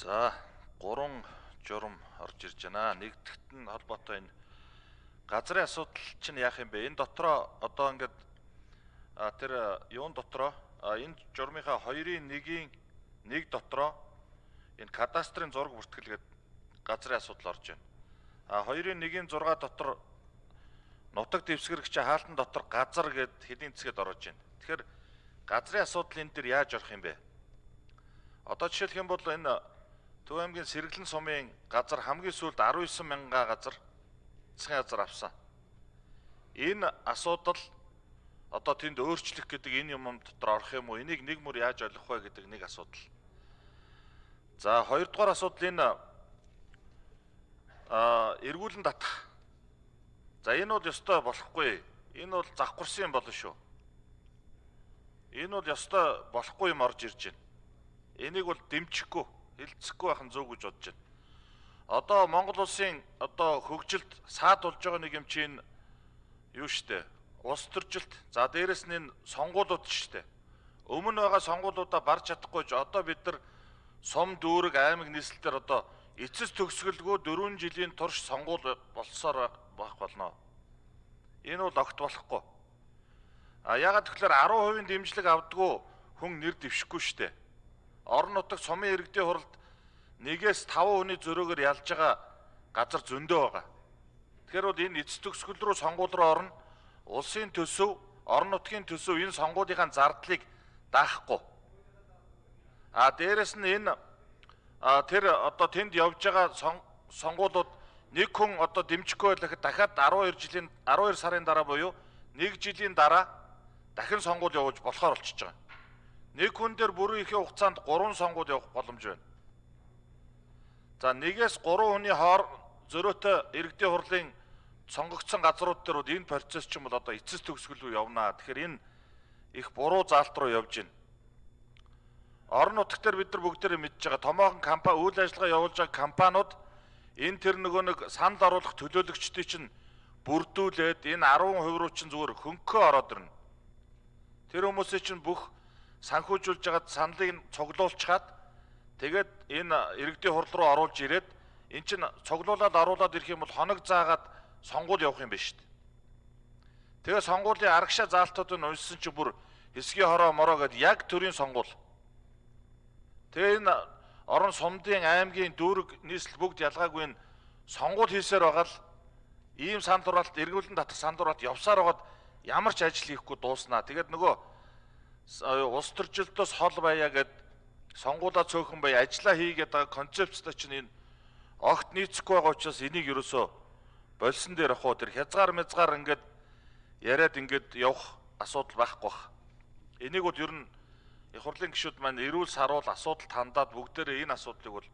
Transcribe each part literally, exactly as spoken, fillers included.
За гурван журам орж ирж байна. Нэгдүгт нь холбоотой энэ газрын асуудал чинь яах юм бэ? Энэ дотроо одоо ингээд тэр юун дотроо энэ журмынхаа хоёрын нэгийн нэг дотроо энэ кадастрын зураг бүртгэл гэдэг газрын асуудал орж байна. А хоёрын нэгийн зураг дотор нутаг дэвсгэрэгч хаалтан дотор газар гэд хэдийн цэгэд орж байна. Тэгэхээр газрын асуудал энэ дэр яаж орох юм бэ? Одоо жишээлх юм бол энэ Төв аймгийн Сэргэлэн сумын газар хамгийн сүүлд арван девять мянга газар засгийн газар авсан. Энэ асуудал одоо тэнд өөрчлөх гэдэг энэ юм дотор орох юм уу? Энийг нэг мөр яаж ойлгох вэ гэдэг нэг асуудал. За хоёрдугаар асуудал энэ а эргүүлэн татах. За энэ бол ёстой болохгүй. Энэ бол завхарсан юм болно шүү. Энэ бол ёстой болохгүй юм орж ирж байна. Энийг бол дэмжихгүй, хилцэхгүй байх нь зөв гэж бодож байна. Одоо Монгол улсын одоо хөгжилд саад болж байгаа нэг юм чинь юу штэ? Улс төржилт. За дээрэс нь энэ сонгуулиуд штэ. Өмнө байгаа сонгуулиудаа барж чадахгүй ч одоо бид нар сум дүүрэг аймаг нийслэлээр одоо эцэс төгсгөлгүй дөрвөн жилийн турш сонгуул болсоор байх болно. Энэ бол огт болохгүй. А ягаад тэгэхээр арван хувийн дэмжлэг авдггүй хүн нэр дэвшихгүй штэ. Орон нутагт сумын иргэдийн хуралд нэгээс таван хүний зөрөөгөр ялж байгаа газар зөндөө байгаа. Тэгэхээр бол энэ эцэс төгсгөл рүү сонгуул руу орно. Улсын төсөв, орон нутгийн төсөв энэ сонгуулийнхаа зардлыг даахгүй. А дээрэс нь энэ тэр одоо тэнд явж байгаа сонгуулиуд нэг хүн одоо дэмжихгүй байхад дахиад арван хоёр жилийн арван хоёр сарын дараа буюу нэг жилийн дараа дахин сонгуул явуулж болохоор болчихж байгаа. Нэг хүн дээр бүрэн ихэнх хугацаанд гурван сонгуул явах боломж байна. За нэгээс гурван хүний хоор зөрөөтэй иргэдийн хурлын сонгогдсон газрууд дээр бол энэ процесс ч юм бол одоо эцэс төгсгөл рүү явнаа. Тэгэхээр энэ их буруу заалт руу явж байна. Орон нутгт дээр бид нар бүгдээрээ мэдж байгаа томоохон компани үйл ажиллагаа явуулж байгаа компаниуд энэ тэр нөгөө нэг санал оруулах төлөөлөгчдийн чинь бүрдүүлээд энэ арван хувь руу чинь зүгээр хөнгөө ороод ирнэ. Тэр хүмүүсийн чинь бүх санхүүжүүлж байгаа саналыг цуглуулчихад тэгээд энэ иргэдийн хурл руу оруулж ирээд эн чинь цуглуулад оруулаад ирэх юм бол хоног заагаад сонгуул явах юм байна шүү дээ. Тэгээ сонгуулийн арагшаа заалтуудыг уншсан чинь бүр хэсгийн хороо мороо гэдээ яг төрийн сонгуул. Тэгээ энэ орон сумдын аймгийн дүүрэг нийслэл бүгд ялгаагүй энэ сонгуул хийсээр байгаа л ийм санал хураалт эргүүлэн татах санал хураалт явсаар байгаад ямар ч ажил хийхгүй дууснаа. Тэгээд нөгөө улс төржилтөөс хол байя гэд сонгуулаа цөөхөн бай ажиллаа хийгээд байгаа концепцтой чинь энэ огт нийцэхгүй байгаа учраас энийг ерөөсөө болсон дээр ах уу тэр хязгаар мязгаар ингээд яриад ингээд явах асуудал байхгүй бах. Энийг бол ер нь их хурлын гишүүд маань эрүүл саруул асуудал хандаад бүгдээрээ энэ асуудлыг бол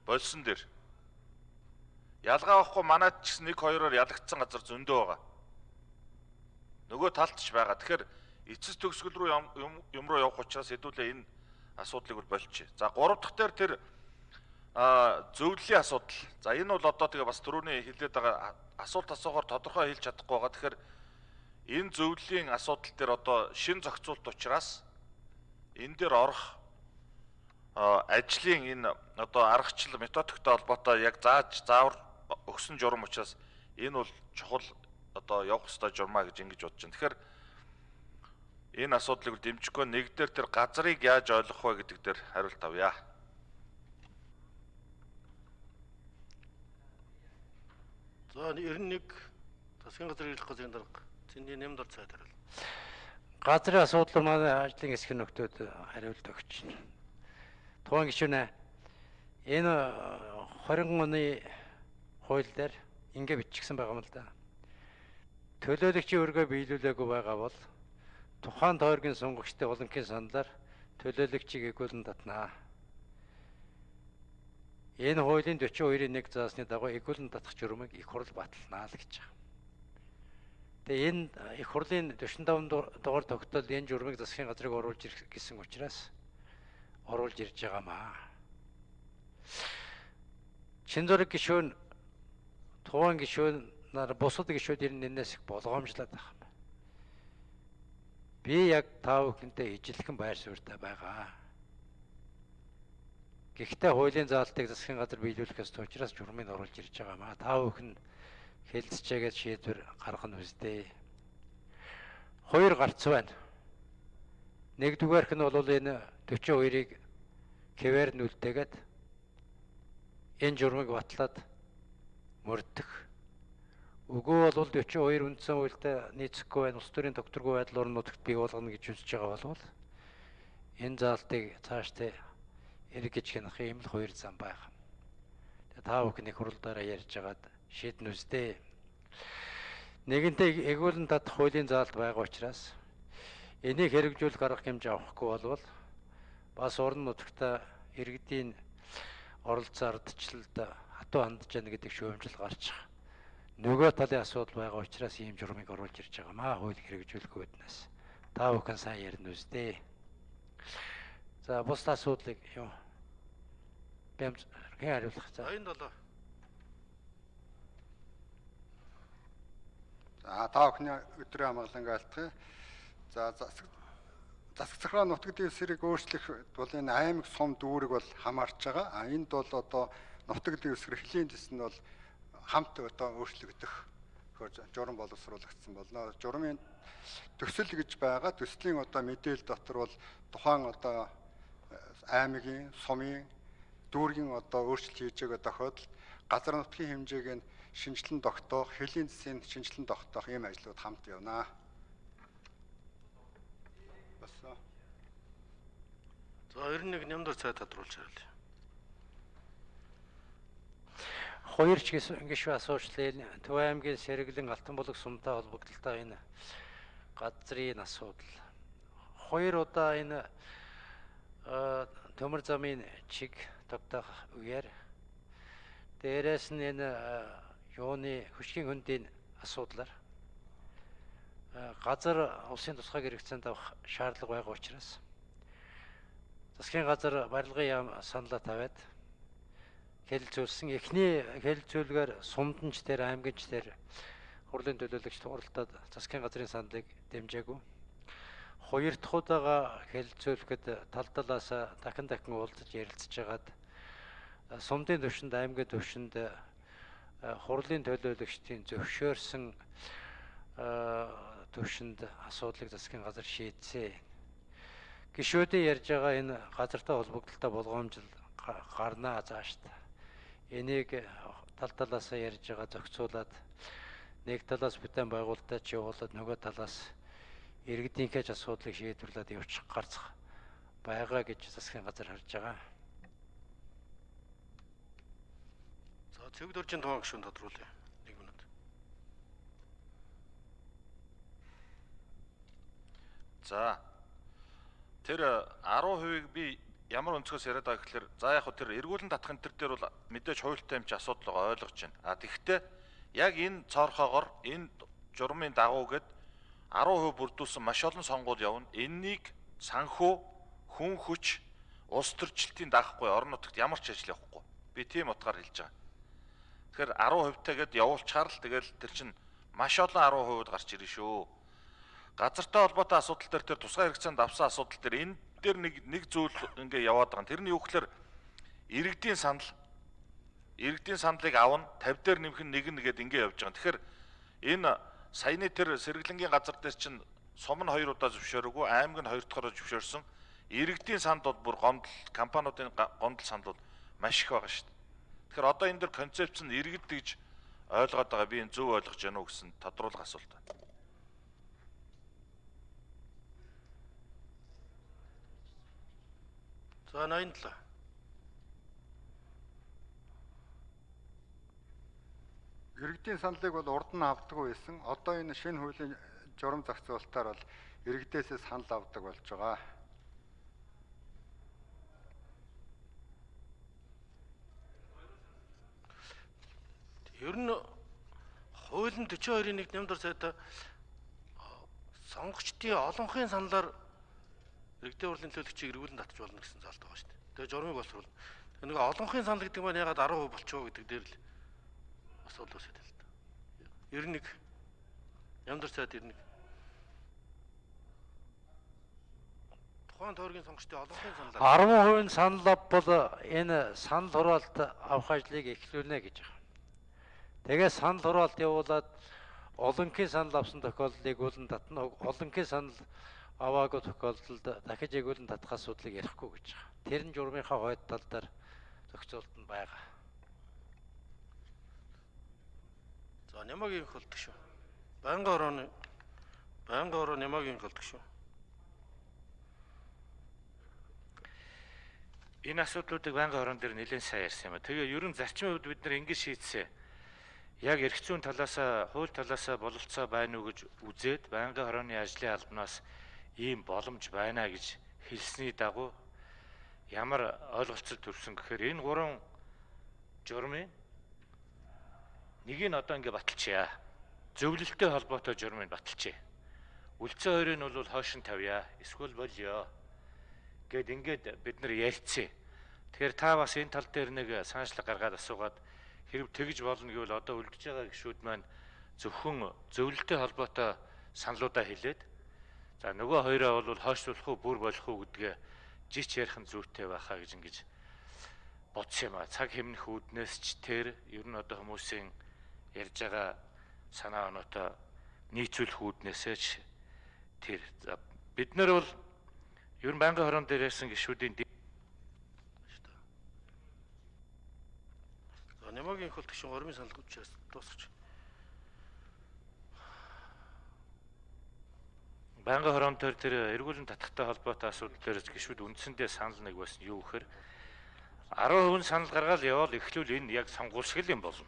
болсон дээр ялгаа авахгүй манайд ч нэг хоёроор ялагдсан газар зөндөө байгаа. Нөгөө талд ч байгаа. Тэгэхээр эцэс төгсгөл рүү юм руу явах учраас хэдүүлээ энэ асуудлыг бол болчих. За гурав дахь дээр тэр зөвлөлийн асуудал. За энэ бол одоо тэгээ бас түрүүний хэлээд байгаа асуулт асуухаар тодорхой хэлж чадахгүй байгаа. Тэгэхээр энэ зөвлөлийн асуудал дээр одоо шин зохицуулт учраас энэ дээр орох ажлын энэ одоо аргачлал методиктой холбоотой яг зааж заавар өгсөн журам учраас энэ бол чухал одоо явах ёстой журмаа гэж ингэж бодож байна. Тэгэхээр энэ асуудлыг дэмжихгүй нэг дээр тэр газрыг яаж ойлгох вэ гэдэг дээр хариулт авъя. За ер нь нэг засгийн газрын ирэх газрын дарга зэний нэмд ор цайд хариул. Газрын асуудал манай ажлын хэсгийн нөхдөөд хариулт өгч байна. Тухайн гишүүнээ энэ двадцать оны хууль дээр ингэ бичигдсэн байгаа юм л да. Төлөөлөгчийн өргөө биелүүлээгүй байгаа бол тухайн тойргийн сонгогчтой олонхын саналаар төлөөлөгчийг эгүүлэн татнаа. Энэ хуулийн дөрвөн хоёрын нэг заасны дагуу эгүүлэн татах журмыг их хурл баталнаа л гэж байгаа. Тэгээ энэ их хурлын дөрвөн таван дугаар тогтоолд энэ журмыг засгийн газрыг оруулж ирэх гэсэн учраас оруулж ирж байгаамаа. Шинзураг гишүүн тухайн гишүүн нар бусад гишүүд энэс их болгоомжлоод байгаа юм. Би яг та бүхэнтэй ижилхэн байр суурьтай байгаа. Гэхдээ хуулийн заалтыг засгийн газар биелүүлэх ёстой учраас журмыг оруулж ирж байгаа маа. Та бүхэн хэлцчээгээд шийдвэр гаргах нь үстэй. Хоёр гарц байна. Нэгдүгээрх нь бол энэ forty-two хоёрыг хэвээр нь үлдээгээд энэ журмыг батлаад мөрдөх. Үгүй бол forty-two үндсэн хуультай нийцэхгүй байна. Улс төрийн тогтворгүй байдал орон нутагт бий болгоно гэж үзэж байгаа болвол энэ заалтыг цаашдаа эргэж хянах юм л хоёр зам байх. Тэгээ та бүхний хуралдаараа ярьж байгаад шийднэ үстэй. Нэгэнтээ эгүүлэн татах хуулийн заалт байгаа учраас энийг хэрэгжүүлэх арга хэмжээ авахгүй болвол бас орон нутагта иргэдийн оролцоо ардчлалд хатуу хандж яана гэдэг шүүмжил гарч байгаа. Нөгөө талын асуудал байгаа учраас ийм журмыг оруулж ирж байгаа маа хуулийг хэрэгжүүлэх үүднээс. Та бүхэн сайн ярина үстэй. За бус асуудлыг юу бэмж хэн хариулах за. Аян долоо. За та бүхний өдрийн амгалан айлтгая. За засаг захиргаа нутгийн дэвсгэрийг өөрчлөх бол энэ аймаг сум дүүрэг бол хамаарч байгаа. А энд бол одоо нутгийн дэвсгэр хөлийн дэс нь бол хамт одоо өөрчлөгдөх журам боловсруулагдсан болно. Журмын төсөл гэж байгаа. Төслийн одоо мэдээлэл дотор бол тухайн одоо аймгийн сумын дүүргийн одоо өөрчлөлт хийж байгаа тохиолдолд газар нутгийн хэмжээг нь шинжилэн тогтоох, хөлийн дэсийн шинжилэн тогтоох ийм ажлууд хамт явна. Басаа. За ninety-one нямдар цай тодруулж хариулъя. Хоёр ч гişүү асуучлаа. Төв аймгийн Сэргэлэн Алтан булаг сумтай холбогдолтой энэ газрын асуудал. Хоёр удаа энэ төмөр замын чиг тогтоох үеэр дээрээс нь энэ юуны хөшгийн хөндийн асуудлаар газар улсын тусгай хэрэгцээнд авах шаардлага байгаа учраас засгийн газар барилгын яам саналаа тавиад хэлэлцүүлсэн. Эхний хэлэлцүүлгээр сумданч дээр аймагч дээр хурлын төлөөлөгч туралдаад засгийн газрын саналыг дэмжээгүй. Хоёр дахь удаага хэлэлцүүлэхэд тал талаас дахин дахин уулзаж ярилцж байгаад сумдын төвшөнд аймгийн төвшөнд хурлын төлөөлөгчдийн зөвшөөрсөн төвшөнд асуудлыг засгийн газар шийдсэн. Гишүүдийн ярьж байгаа энэ газартай холбогдолтой болгоомжил гарнаа зааштай. Энийг тал талаас ярьж байгаа зохицуулаад нэг талаас бүтээн байгуулалтад явуулаад нөгөө талаас иргэдийнхээ ч асуудлыг шийдвэрлээд явуучих гарцах байгаа гэж засгийн газар харж байгаа. За цэвэр дөржин тоон гишүүн тодруулъя. Нэг минут. За тэр ten percent-ийг би ямар өнцгөөс яриад байгаа гэхээр за яг хөө тэр эргүүлэн татах энэ төр дээр бол мэдээж хуультай юм чи асуудал байгаа ойлгож байна. А тэгвэл яг энэ цоорхоогоор энэ журмын дагуу гээд ten percent бүрдүүлсэн маш олон сонгуул явна. Энэнийг санхүү, хүн хүч, улс төрчлөлтийн даахгүй орон нутагт ямар ч ажил явахгүй. Би тийм утгаар хэлж байгаа. Тэгэхээр ten percent-тайгээд явуулчаар л тэгэл тэр чинь маш олон ten percent гарч ирнэ шүү. Газартай холбоотой асуудал дээр тэр тусгай хэрэгцээнд авсан асуудал дээр энэ дээр нэг нэг зүйл ингээ яваад байгаа. Тэрний юу гэхээр иргэдийн санал иргэдийн саналыг авна fifty дээр нэмэх нь нэг нэгээд ингээ явж байгаа. Тэгэхээр энэ саяны тэр Сэргэлэнгийн газар дээр чинь сум нь хоёр удаа зөвшөөрөөгүй, аймаг нь хоёр дахь зөвшөөрсөн. Иргэдийн санд бол бүр гомдол, компаниудын гомдол санал бол маш их байгаа шүү дээ. Тэгэхээр одоо энэ дээр концепц нь иргэд гэж ойлгоод байгаа. Би энэ зөв ойлгож байна уу гэсэн тодруулах асуулт байна. За ninety-seven. Иргэдийн саналыг бол урд нь авдаггүй байсан. Одоо энэ шинэ хуулийн журам зохицуулалтаар бол иргэдээсээ санал авдаг болж байгаа. Ер нь хуулийн forty-two-ийн one нямдар цайтай сонгогчдын олонхын саналаар иргэдийн хурлын төлөөлөгчийг эргүүлэн татж болно гэсэн заалт байгаа шүү дээ. Тэгээ журмыг боловсруулна. Нэг олонхын санал гэдэг нь ягаад ten percent болчихоо гэдэг дээр л асуудал үүсэж байна л да. ninety-one нямдар цайд ninety-one. Тухайн тойргийн сонгогчдын олонхын саналаар арван хувийн санал авбал энэ санал хураалт авах ажлыг эхлүүлнэ гэж байна. Тэгээ санал хураалт явуулаад олонхын санал авсан тохиолдлыг үүлэн татна. Олонхын санал аваагүй тохиолдолд дахиж эгүүлэн татах асуудлыг ярихгүй гэж байгаа. Тэр нь журмынхаа хойд тал дээр зохицуулт нь байгаа. За Нямагийн холдог шүү. Байнгын орооны байнгын ороо Нямагийн холдог шүү. Энэ асуудлуудыг байнгын орон дээр нэлээд сайн ярьсан юм а. Тэгээ ерөн зарчмын хувьд бид нар ингэж шийдсэн. Яг эрх зүйн талаас, хууль талаас бололцоо байна уу гэж үзээд байнгын орооны ажлын албанаас ийм боломж байна гэж хэлсний дагуу ямар ойлголцол төрсөн гэхээр энэ гурван журмын нэг нь одоо ингэ баталчихъя. Зөвлөлттэй холбоотой журмыг баталчихъя. Үлцэн хоёрыг нь бол хойш нь тавья. Эсвэл болёо гэд ингээд бид нар ярьцээ. Тэгэхээр та бас энэ тал дээр нэг санаачлаг гаргаад асуугаад хэрэг тэгж болно гэвэл одоо үлдэж байгаа гишүүд маань зөвхөн зөвлөлттэй холбоотой саналуудаа хэлээд за нөгөө хоёроо бол хойшлуулах уу бүр болох уу гэдгээ жич ярих нь зүйтэй байхаа гэж ингэж бодсон юм а. Цаг хэмнэх үүднээс ч тэр ер нь одоо хүмүүсийн ярьж байгаа санаа оноотой нийцүүлэх үүднээсээ ч тэр бид нар бол ер нь байнгын хорон дээр ярьсан гишүүдийн Нямагийн холдог шин гормын санал хүчээс дуусгач. Байнгын хорон дээр тэр эргүүлэн татахтай холбоотой асуудал дээр гишүүд үндсэндээ санал нэг байсан юу гэхээр арван хувийн санал гаргаад явал эхлүүл энэ яг сонгуул шиг л юм болно.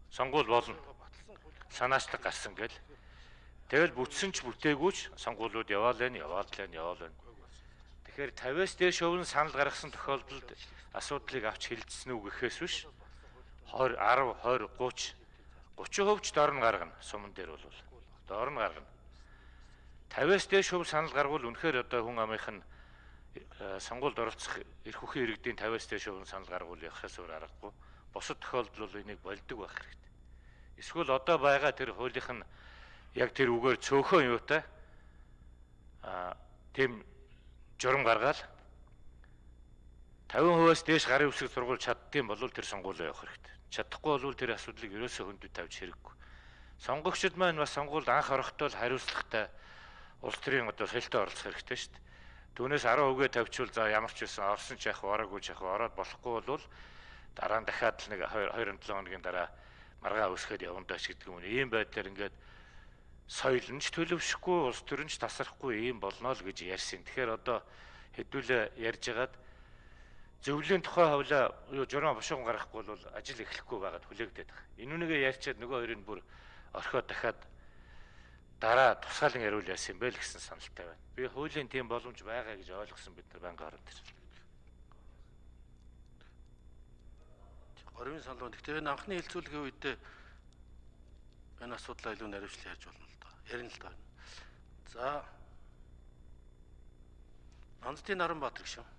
Сонгуул болно. Санаачлаг гарсан гэл. Тэгэл бүтсэн ч бүтээгүйч сонгуулиуд яваал энэ яваал энэ яваал энэ. Тэгэхээр тавиас дээш хувийн санал гаргасан тохиолдолд асуудлыг авч хилцсэн үү гэхээс биш двадцать, двадцать, тридцать, тридцать хувьч дор нь гаргана. Суман дээр бол дор нь гаргана. тавиас дээш хувь санал гаргавал үнэхээр одоо хүн амынх нь сонгуульд оролцох эрх үхэн иргэдийн тавиас дээш хувь санал гаргавал явахаас өөр аргагүй. Бусад тохиолдол бол энийг болдог байх хэрэгтэй. Эсвэл одоо байгаа тэр хуулийнх нь яг тэр үгээр цөөхөн юутай а тийм журам гаргаал тавин хувиас дээш гарын үсэг сургууль чаддсан бол тэр сонгуулиа явах хэрэгтэй. Чадахгүй бол тэр асуудлыг ерөөсөө хөндөд тавьж хэрэггүй. Сонгогчид маань бас сонгуульд анх орохдоо хариуцлагатай улс төрийн одоо солилтөд оролцох хэрэгтэй шүү дээ. Түүнээс арван үгээ тавьчвал за ямар ч байсан орсон ч яах вэ, ороогүй ч яах вэ, ороод болохгүй бол дараа нь дахиад л нэг хоёр седем хоногийн дараа маргаа үсгээд явна даач гэдэг юм. Ийм байдлаар ингээд соёл нь ч төлөвшөхгүй, улс төр нь ч тасрахгүй ийм болно л гэж ярьсан. Тэгэхээр одоо хэдүүлээ ярьж хагаад зөвлөлийн тухай хавлаа юу журам бошгон гаргахгүй бол ажил эхлэхгүй байгаад хүлээгдээд байгаа. Энэ үнийг ярьчаад нөгөө хоёрыг бүр орхиод дахиад дараа тусгаалan яриул яасан юм бэ л гэсэн саналтай байна. Би хуулийн тийм боломж байгаа гэж ойлгосон бид нар байнгын орон дээр. Гормын санал. Гэхдээ энэ анхны хилцүүлгийн үедээ энэ асуудлаа илүү наривчлан ярьж болно л доо. Ярина л доо. За Нандтын Наранбаатар гişүн.